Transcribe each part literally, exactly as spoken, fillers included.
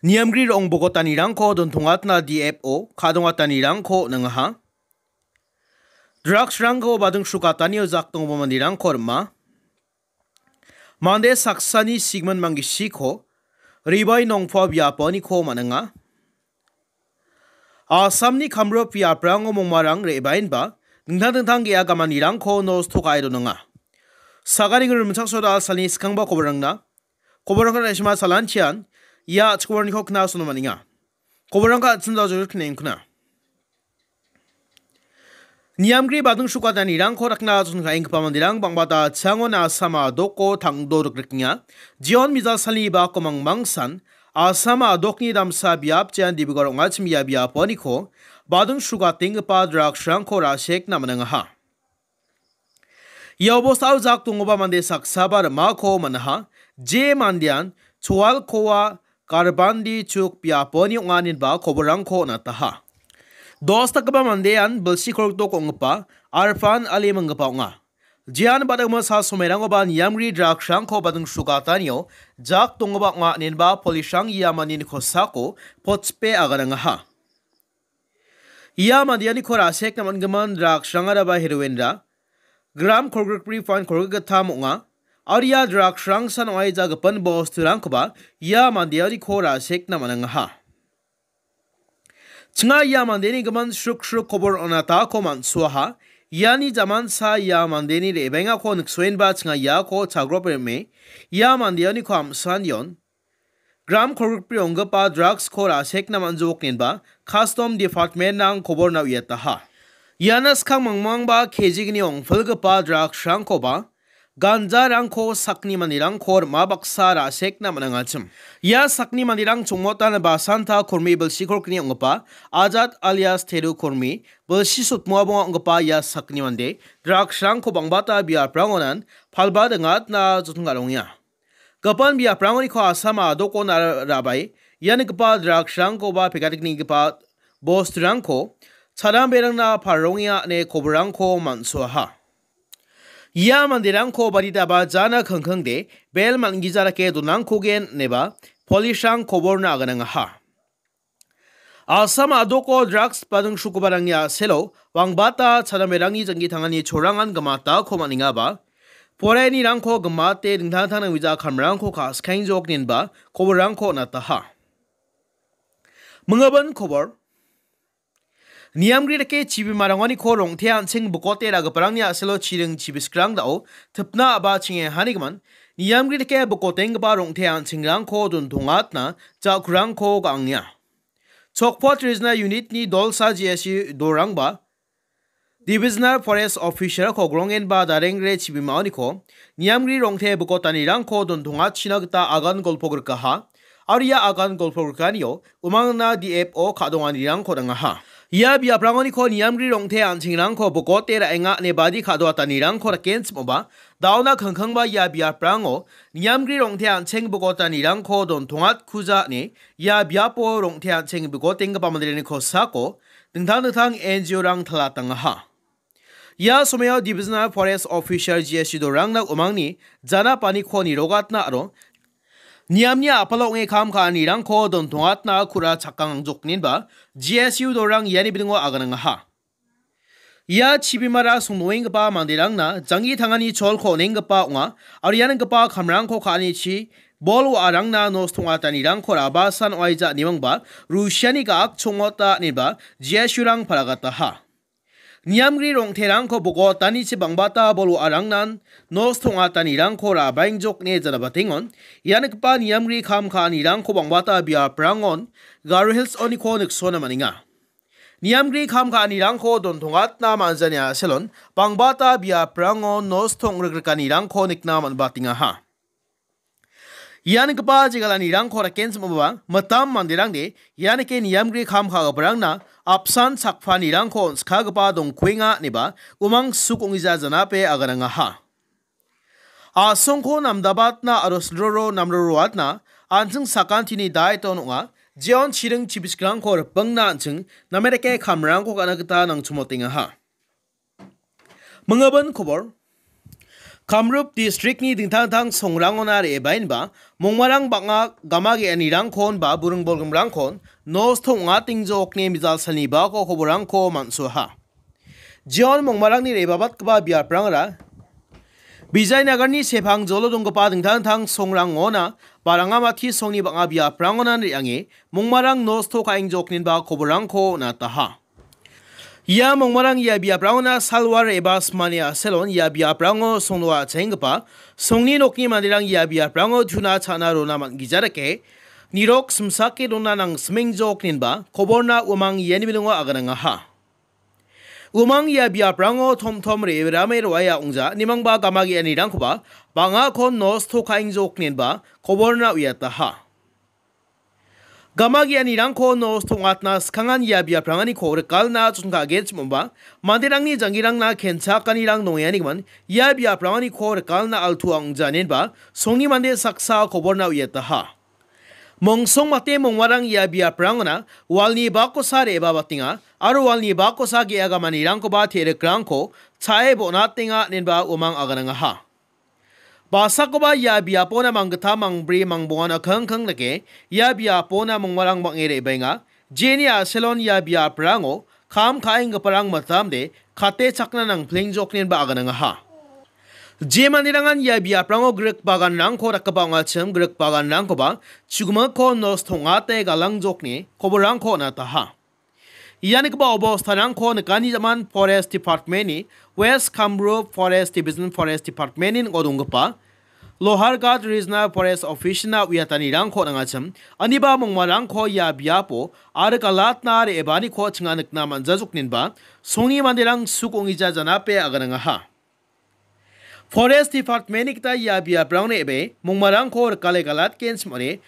Niamgri rong bogotanirangko dontongatna D F O ka·dongatanirangko on·angaha. Drugsrangko bading srukatanio jakdongba manderangko rima. Mande saksani sigming manggisiko Ribai nongpa biaponiko man·enga. Asamni kamrip biaprango mongmarang re·baenba dingtang dingtang ge·a gamanirangko nosto ka·e donenga. Sagaring rimchaksoda salni skangba koborangna, koborangna naisima salantian ia a·chik koborniko knasono man·enga. Koborangko an·ching dajor knengkna. Niamgri bading srukatanirangko rakna chonkaenggipa manderang bang·bata changon Asama doko tangdo rikrikenga. Jion mijalsalni bako mangmangsan Asama dokni damsa biap jean Dibrugarh ong·achim ia biaponiko bading srukatenggipa drugsrangko ra·sekna man·angaha. Ia obostao jak donggipa mande saksaba rimako man·aha. Je mandean Choalkoa Garbandi Chuk biaponi ong·a ineba koborangko on·ataha. Dos dakgipa mandean bilsi kolgrikdok ong·gipa Arfan Ali minggipa ong·a. Jean badingmo sa somerangkoba niamgri drugsrangko bading srukatanio jak donggipa ong·a ineba polisrang ia mandeni kosako potspe aganangaha. Ia mandeaniko ra·sekna man·gimin drugsrangaraba heroinra gram kolgrikbri point kolgrikgittam ong·a. Aro ia drugsrangsan ong·aija gipin bosturangkoba ia mandeaniko ra·sekna man·angaha. Chinga ia mandeni gimin sruk sruk kobor on·atako man·suaha. Iani jamansa ia mandeni re·bengako niksoenba chinga iako chagrop rime ia mandeaniko am·sanion gram kolgrikbri ong·gipa drugsko ra·sekna man·jok ineba Custom Department-rang koborna uiataha. Iana skang mangmangba kejigni ong·pilgipa drugsrangkoba ganjarangko sakni manderangko rima baksa ra·sekna man·angachim. Ia sakni manderang chongmotan Basanta Kormi bilsi kolgrikni ong·gipa Ajat alias Teru Kormi bilsi sotmoa bonga ong·gipa ia sakni mande drugsrangko bang·bata biaprangonan palba dingatna joton ka·rongenga. Gipin biaprangoniko Asama dokon ra-, rabai ia nikgipa drugsrangkoba pekatiknigipa bosturangko charamberangna parongenga ine koborangko man·suaha. Ia manderangko baditaba jana kangkangde bel man·gija dake donangkogen ineba polisrang koborna aganangaha. Asam a·doko drugs bading srukobarangni a·selo wangbata chadamerangni janggi tangani chorangan gimatako man·engaba, poraianirangko gimate dingtang dingtang nangwija kamrangko ka·skengjok inenba koborangko on·ataha. Mingabin kobor. Niamgri dake chibimarangoniko rong·te an·ching bikote ra·giparangni a·selo chiring chibiskrang da·o tipna a·ba chingehanigimin, niamgri dake bikotenggipa rong·te an·chingrangko dontongatna ja·kurangko ga·angenga. Chokpot Rijna Unit-ni dolsa G S U dorangba Divisional Forest Officer-ko grongenba darengre chibimaoniko niamgri rong·te bikotanirangko dontongatchina gita agan golpogrikaha, aro ia agan golpogrikanio umangna D F O ka·donganirangko dangaha. Ia biaprangoniko niamgri rong·te an·chingrangko bikote ra·enga ine badi ka·doatanirangko rakenchimoba, da·ona kangkangba ia biaprango niamgri rong·te an·ching bikotanirangko dontongatkuja ine ia biapo rong·te an·ching bikotenggipa manderangni kosako dingtang dingtang N G O-rang talatangaha. Ia somao Divisional Forest Officer G S U dorangna umangni jana paniko nirogatna aro niamni a·palo ong·e kam ka·anirangko dontongatna ku·ra chakkangangjokninba G S U dorang iani bidingo aganangaha. Ia chibimara songdoenggipa manderangna janggi tangani cholko on·enggipa ong·a, aro ia nenggipa kamrangko ka·anichi bol wa·arangna nosto ong·atanirangko rabasan ong·aija ine mangba Rusiani ga·ak chongmota ineba G S U-rang paragataha. Niamgri rong·terangko bogotanichi bang·bata bol wa·arangnan nosto ong·atanirangko rabaengjok ine janabatengon, ia nikgipa niamgri kam ka·anirangko bang·bata biaprangon Garo Hills oniko niksona man·enga. Niamgri kam ka·anirangko dontongatna man·jani a·selon bang·bata biaprango nosto ong·rikrikanirangko nikna man·batengaha. Ia nikgipa jegalanirangko rakenchimoba mitam manderangde ia nike niamgri kam ka·giparangna apsan chakpanirangko on·skagipa dongkuenga ineba umang suk ong·gija janape aganangaha. A·songko namdabatna aro silroro namroroatna an·ching sakantini daeton ong·a, jeon chiring chibiskrangko ripengna an·ching name dake kamrangko ka·na gita nangchimotengaha. Mingabin kobor. Kamrup districtni dingtang dingtang songrangona re·baenba mongmarang bang·a gama ge·anirangkon ba buring bolgrimrangkon nosto ong·atengjokni mijal salni bako koborangko man·suaha. Jeon mongmarangni re·babatgipa biaprangara Vijaynagarni sepangjolo donggipa dingtang dingtang songrangona ba rangamati songni bang·a biaprangona re·ange mongmarang nosto ka·engjokninba koborangko on·ataha. Ia mongmarang ia biaprangona salwar eba smani a·selon ia biaprango songdoa cha·enggipa songni nokni manderang ia biaprango tuna cha·na rona man·gija dake nirok simsake dona nangsimengjokninba koborna uamang iani bilingo aganangaha. Uamang ia biaprango tomtom re·rame roaia ong·ja, nimangba gama ge·anirangkoba bang·akon nosto ka·engjokninba koborna uiataha. Gama ge·anirangko nosto ong·atna skangan ia biapranganiko rikalna chonka·genchim ong·ba, manderangni janggirangna kenchakanirang nongenganigimin ia biapranganiko rikalna altua ong·janinba songni mande saksa koborna uiataha. Mongsong mate mongmarang ia biaprangona walni bakosa re·babatenga aro walni bakosa ge·a gamanirangkoba te·rikrangko cha·e bon·atenga inenba uamang aganangaha. Basakoba ia biapona manggittam, mangbri, mangbongan akangkang dake ia biapona mongmarang bang·e re·baenga. Jeni a·selon ia biaprango kam ka·enggiparang mitamde kate chakna nangplengjokninba aganangaha. Je manderangan ia biaprango grik baganrangko dakgipa ong·achim, grik baganrangkoba chugimikko nosto ong·ate galangjokni koborangko on·ataha. Ia nikgipa obostanirangko nikani jaman Forest Department-ni West Kamrup Forest Division Forest Department-ni ning·o donggipa Lohargat Regional Forest Office-na uiatanirangko on·angachim, aniba mongmarangko ia biapo aro galatna re·baaniko chinga nikna man·jajokninba songni manderang suk ong·ija janape aganangaha. Forest Department-ni gita ia biaprangni ebe mongmarangko rikale galatgenchim ong·e,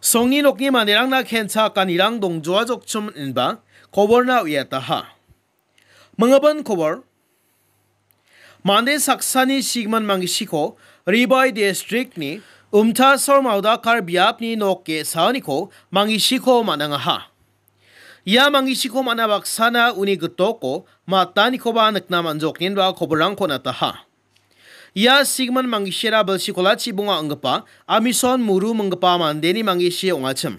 songni nokni manderangna kenchakanirang dongjoajokchim inenba koborna uiataha. Mingibin kobor. Mande saksani sigimin manggisiko Ribai District-ni Umtasor Maudakar biapni nok ge·saoniko manggisiko man·angaha. Ia manggisiko man·a baksana uni gitoko matanikoba nikna man·jokninba koborangko on·ataha. Ia sigimin manggisiara bilsi kolachi bonga ong·gipa Amison Muru minggipa mandeni manggisi ong·achim.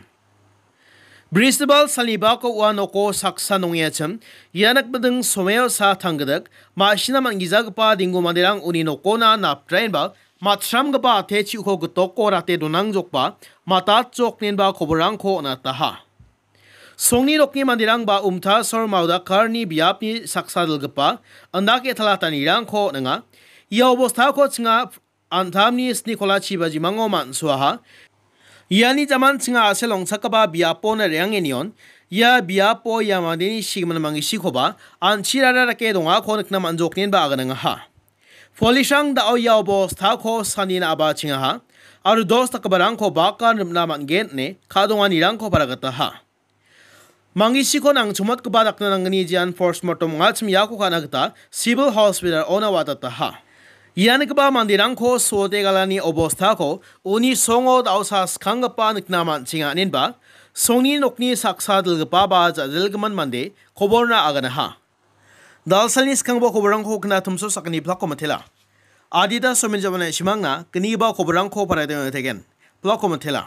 Brisbal salni bako ua noko saksa nongengachi, ia nikbiding someo sa tanggidik, ma·sina man·gijagipa dinggo manderang uni nokona napdraenba matramgipa atechi uko gitoko rate donangjokba matatjokninba koborangko on·ataha. Songni nokni manderangba Umtasor Maudakarni biapni saksa dilgipa indake talatanirangko on·enga. Ia obostako chinga an·tamni sni kolachi bajimango man·suaha. Iani jaman chinga a·sel ong·chakgipa biapona re·angenion, ia biapo ia mandeni sigimin manggisikoba an·chirara dake dongako nikna man·jokninba aganangaha. Polisrang da·o ia obostako sanina a·bachengaha, aro dos dakgiparangko bakan rimna man·gen ine ka·donganirangko paragataha. Mangisiko nangchongmatgipa dakna nanggni jean postmortem ong·achim iako ka·na gita Civil Hospital-ona watataha. Ianigipa manderangko suote galani obostako uni songo da·osa skanggipa nikna man·chenga, inenba songni nokni saksa dilgipaba ja·dilgimin mande koborna aganaha. Dalsalni skanggipa koborrangko kna tumso sakgni plakko mitela. Adita somen jabana isimangna gnigipa koborrangko paraiteng tegen. Plakko mitela.